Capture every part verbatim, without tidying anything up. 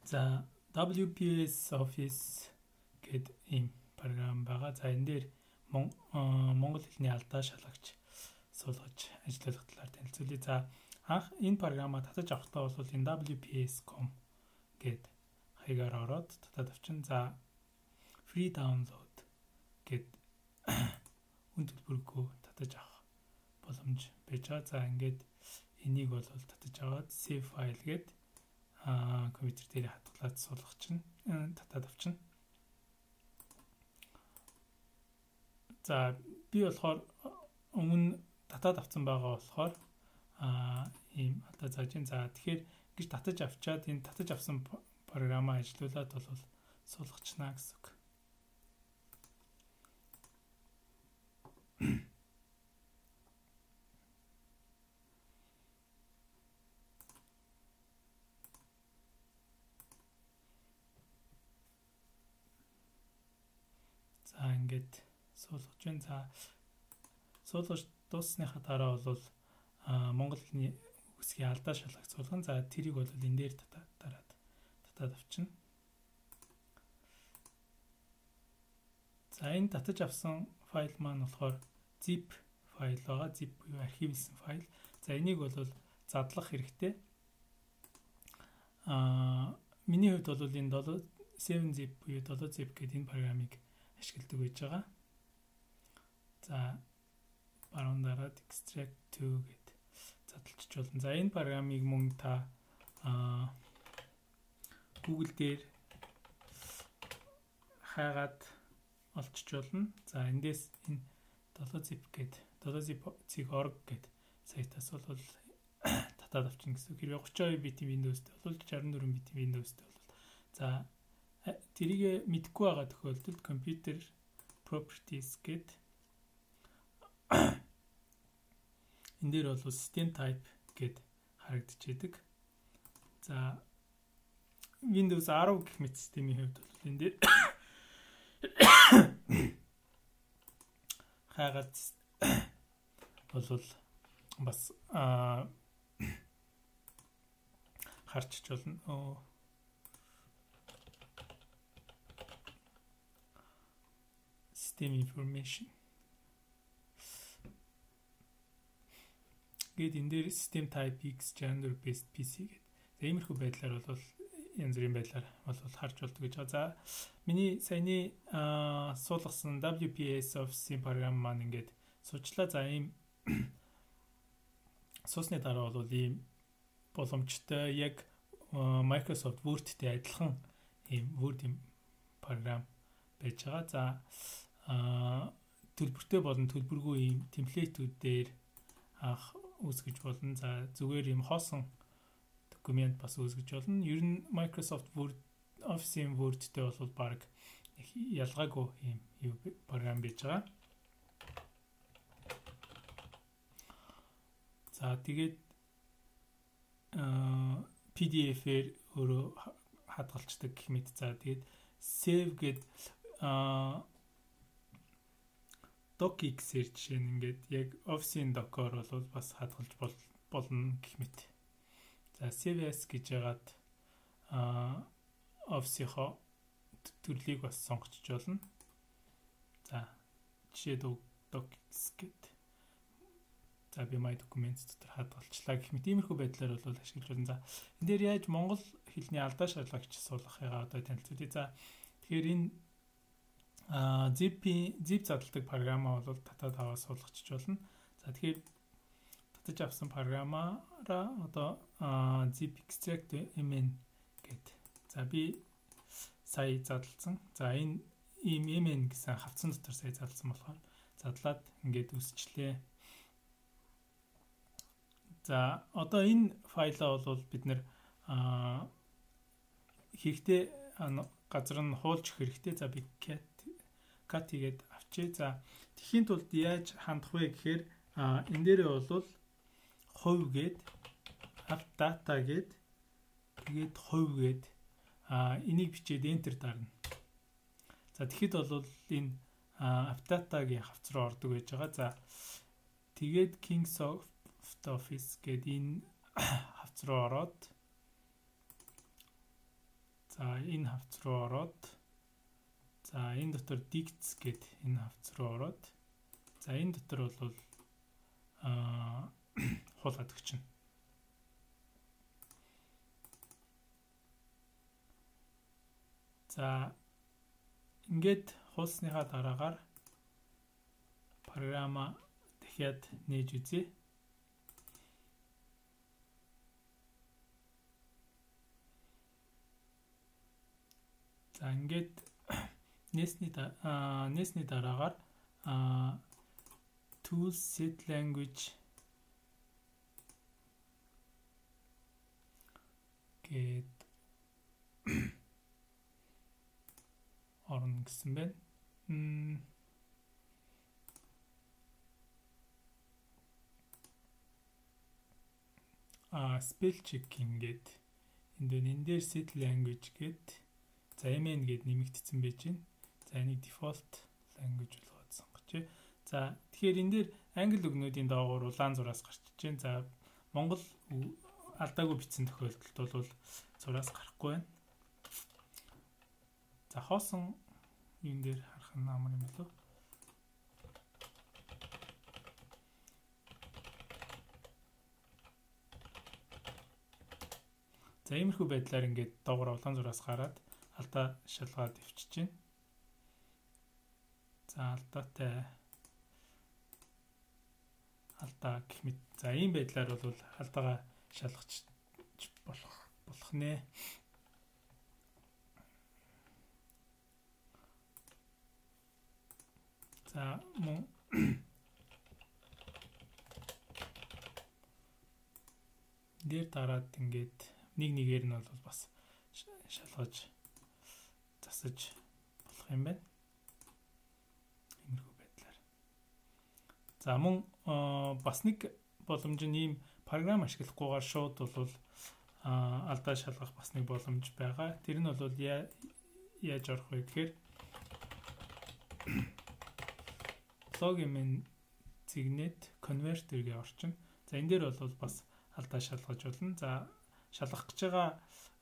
За дабл ю пи эс Office гэдэг ийм програм байгаа. За энэ дээр монгол хэлний алдаа шалгагч суулгаж ажиллах талаар танилцуулъя. За анх энэ програмаа татаж авахдаа бол энэ дабл ю пи эс точка ком гэд хаягаар ороод татаад авчин. За free download гэд үн төлбөргүй татаж авах боломж байж байгаа. За ингээд энийг бол татаж аваад save file гэд а компьютер дээр хатгалаад суулгах чинь татаад авчин. За би болохоор өмнө татаад авсан байгаа болохоор а ийм алдаа зааж ин. За тэгэхээр гэж татаж авчаад энэ татаж авсан програмаа ажилуулад бол суулгачна гэсэн үг. За ингээд суулгаж байна. За суулгаж дууссныхаа дараа бол монгол хэлний үгсийн алдаа шалгах суулгана. За тэрийг бол энэ дээр дараад татаад авчина. За энэ татаж авсан файл маань болохоор zip файл байгаа. Zip буюу архивлсан файл. За энийг бол задлах хэрэгтэй. Аа миний хувьд бол энэ seven zip буюу seven zip гэдэг энэ програмыг ашигладаг байж байгаа. За баруун дараад extract to гэд задлчих болно. За энэ програмыг мөн та аа Google дээр хайгаад олчиж болно. За эндээс энэ seven zip гэд seven zip org гэд сайтаас бол татаад авчихна гэсэн үг. Хэрвээ thirty-two битийн Windows-тэй бол sixty-four битийн Windows-тэй бол за тэрийг мэдэхгүй байгаа тохиолдолд computer properties гэд энэ дээр бол system type гэд харагдчихэдэг. За Windows ten гэх мэт системийн хувьд бол энэ дээр хайгаад бол бас харчиж болно. System information гэд энэ дээр system type X gender based пи си гэд. За иймэрхүү байдлаар бол янз бүрийн байдлаар бол харж болдог гэж байгаа. За миний саяны суулгасан дабл ю пи эс Office-ийн програм маань ингээд суучлаа. За ийм суусны дараа бол ийм боломжтой яг Microsoft Word-тэй адилхан ийм Word-ийн програм байж байгаа. За а төлбөртэй болон төлбөргүй ийм темплейтүүдээр ах үүсгэж болно. За зүгээр ийм хоосон документ бас үүсгэж болно. Ер нь Microsoft Word Office-ийн Word-тэй бол баг ялгаагүй ийм юу програм байж байгаа. За тэгээд а пи ди эф-ээр өөрөө хадгалцдаг гэх мэт. За тэгээд save гэд а docx-ээр жишээ нь ингээд яг Office-ийн doc-оор бол бас хадгалж болно гэх мэт. За save as гэж яагаад а Office-ийнхоо төрлийг бас сонгоч болно. За жишээ docx гэд. За би my documents дотор хадгалчлаа гэх мэт иймэрхүү байдлаар бол ашиглаж болно. За энэ дээр яаж монгол хэлний алдаа шалгагч суулгахыгаа одоо танилцуулъя. За тэгэхээр энэ а zip zip задалдаг програмаа бол татаад аваад суулгачих болно. За тэгэхээр татаж авсан програмаараа одоо zip extract mn гэд. За би сая задлсан. За энэ ийм mn гэсэн хавцсан дотор сая задлсан болохоор задлаад ингээд үсчлээ. За одоо энэ файлаа бол бид нэр хэрэгтэй газар нь хуулж хэрэгтэй. За би cat cat хийгээд авчээ. За тэхийн тулд яаж хандах вэ гэхээр энэ дээрээ бол хувь гээд app data гээд тэгээд хувь гээд энийг бичээд enter дарна. За тэгэхэд бол энэ app data-гийн хавц руу ордог байж байгаа. За тэгээд Kingsoft Office гээд энэ хавц руу ороод За энэ хавц руу ороод за энэ дотор dicts гэд энэ хавц руу ороод за энэ дотор бол аа хуулаад өгчнө. За ингээд хуулсныхаа дараагаар програма дахиад нээж үзье. За ингээд нээсний нээсний дараагаар tools set language гэд орно гэсэн байна. М а spell checking гэд энд энэ дээр set language гэд за mn гэд нэмэгдсэн байж байна. За энийг default language болгоод сонгоч. За тэгэхээр энэ дээр англи үгнүүдийн доогуур улаан зураас гарч иж байна. За монгол алдаагүй бичсэн тохиолдолд бол зураас гарахгүй байна. За хоосон энэ дээр харах нь амар юм болов. За иймэрхүү байдлаар ингээд доогуур улаан зураас гараад алдаа шалгаад өвчиж байна. За алдаатай алдаа гэх мэт. За ийм байдлаар бол алдаагаа шалгаж болох болох нэ. За мөн дээр дараад ингээд нэг нэгээр нь бол бас шалгаж засаж болох юм байна. Иймэрхүү байдлаар. За мөн бас нэг боломж нь ийм програм ашиглахгүйгээр шууд бол алдаа шалгах бас нэг боломж байгаа. Тэр нь бол яаж орох вэ гэхээр login зигнэт converter-гээ орчин. За энэ дээр бол бас алдаа шалгаж болно. За шалгах гэж байгаа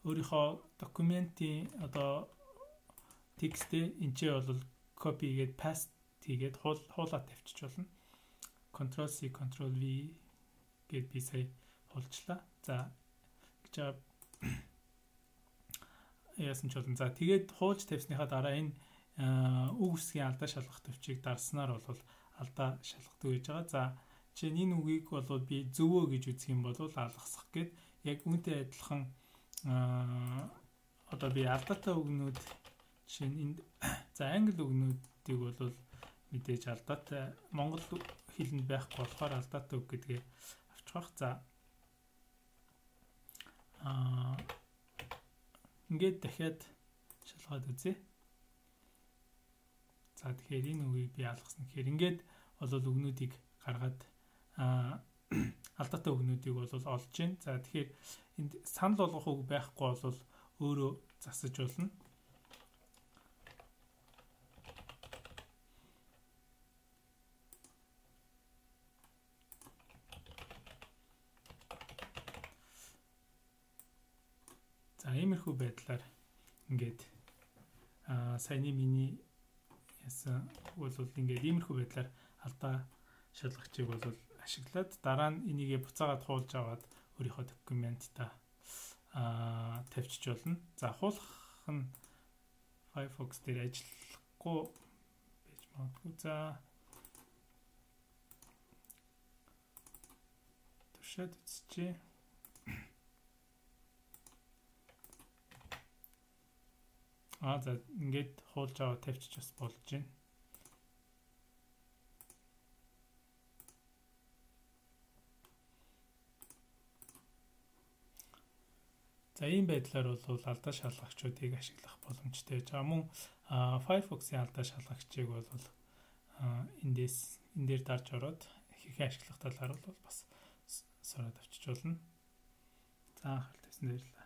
өөрийнхөө документийн одоо текстээ энэчээ бол copy хийгээд paste хийгээд хуулаад тавьчих болно. Control C Control V гэд би сая хулчлаа. За гэж яасан ч болно. За тэгээд хуулж тавьсныхаа дараа энэ үг үсгийн алдаа шалгах төвчийг дарснаар бол алдаа шалгадаг гэж байгаа. За чинь энэ үгийг бол би зөвөө гэж үзэх юм бол алгасах гээд яг үүнтэй адилхан одоо би алдаатай үгнүүд чинь энд за англи үгнүүдийг бол мэдээж алдаатай монгол хэлэнд байхгүй болохоор алдаатай үг гэдгээ авчих бах. За аа ингээд дахиад шалгаад үзье. За тэгэхээр энэ үгийг би алгасан. Тэгэхээр ингээд бол үгнүүдийг гаргаад алдаатай үгнүүдийг бол олж гин. За тэгэхээр энд санал болгох үг байхгүй бол өөрөө засаж болно. За иймэрхүү байдлаар ингээд аа саяны миний яасан бол ингээд иймэрхүү байдлаар алдаа шалгагчийг бол ашиглаад дараа нь энийгээ буцаагаад хуулж аваад өөрийнхөө документта аа тавьчих болно. За хуулах нь Firefox дээр ажиллахгүй байж магадгүй. За туршаад үзчихье. Аа за ингээд хуулж аваад тавьчих бас болж байна. За ийм байдлаар бол алдаа шалгагчдыг ашиглах боломжтой байж байгаа. Мөн Firefox-ийн алдаа шалгагчийг бол эндээс энэ дээр дарж ороод хэрхэн ашиглах талаар бол бас сураад авчиж болно. За анхаарал тавьсан баярлалаа.